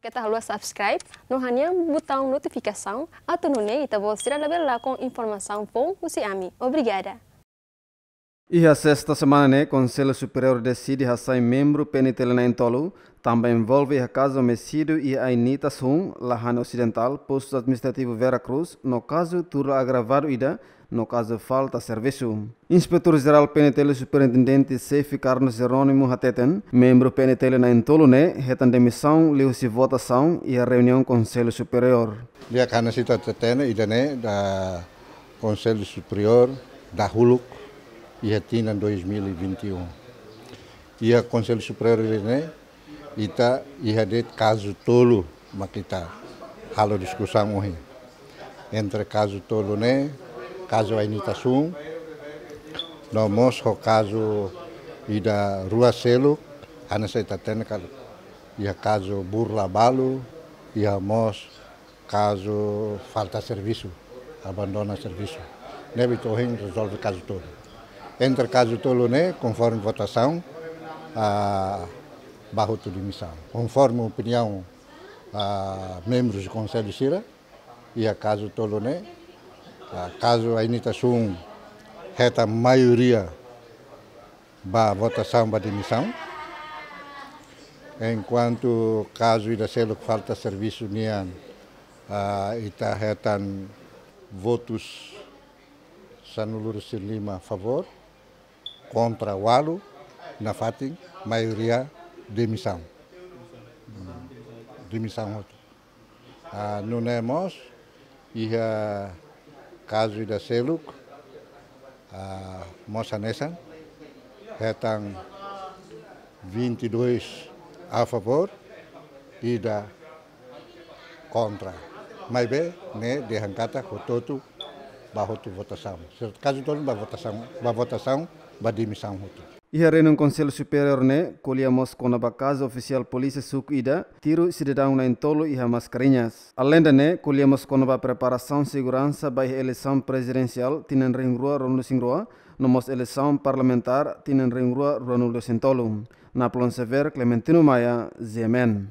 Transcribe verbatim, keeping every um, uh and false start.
Keta haluha subscribe no hanehan butaun notifikasaun, atu nune'e ita-boot sira labele lakon informasaun foun husi ami. Obrigada. Iha sesta semana ne'e, Konsellu Superiór deside hasai membru P N T L na'in-tolu, tanba envolve iha kazu homesídiu iha Ainitas hun, Lahane Osidentál, Postu Administrativu Vera Cruz, no kazu turra agravadu ida, no kazu falta servisu. Inspetór Jerál P N T L Superintendente Xefe Carlos Jerónimo hateten, membru P N T L na'in-tolu ne'e hetan demisaun liuhusi votasaun iha reuniaun Konsellu Superiór. Di'ak, hanesan ita hatene, ida-ne'e da Konsellu Superiór dahuluk iha tinan dois mil e vinte e um. Iha Konsellu Superiór ida-ne'e, ita iha de'it kazu tolu mak ita halo diskusaun ohin. Entre kazu tolu ne'e, kazu Ainitas hun, no mós ho kazu ida rua seluk, hanesan ita hatene katak iha kazu burla balu, iha mós kazu falta servisu, abandona servisu. Ne'ebé ita ohin rezolve kazu tolu. Entre kazu tolu ne'e, konforme votasaun, ah, ba hotu demisaun. Konforme opiniaun, ah, membrus de konsellu sira, iha kazu tolu ne'e, ah, kazu Ainitas hun hetan maioria ba votasaun ba demisaun. Enkuantu kazu ida seluk falta servisu nian, ah, ita hetan votus sanulu-resin-lima favór, kontra ualu, nafatin maioria demisaun. Hmm, demisaun hotu. Ah, nune'e mós, iha kazu ida seluk, ah, mós hanesan, hetan vinte e dois a favor, ida kontra. Maibé, ne'e dehan katak hotu-hotu ba hotu votasaun. Kazu tolu ba votasaun, ba votasaun, ba demisaun hotu. Iha reuniaun Konsellu Superiór ne'e, ko'alia mós kona-ba kazu ofisiál polísia suku ida tiru sidadaun na'in-tolu iha Mascarenhas. Aleinde ne'e, ko'alia mós kona-ba preparasaun seguransa ba iha eleisaun prezidensiál tinan rihun rua ruanulu-resin-rua, no mós eleisaun parlamentár tinan rihun rua ruanulu-resin-tolu. Napoleon Xavier, Clementino Maia, G M N.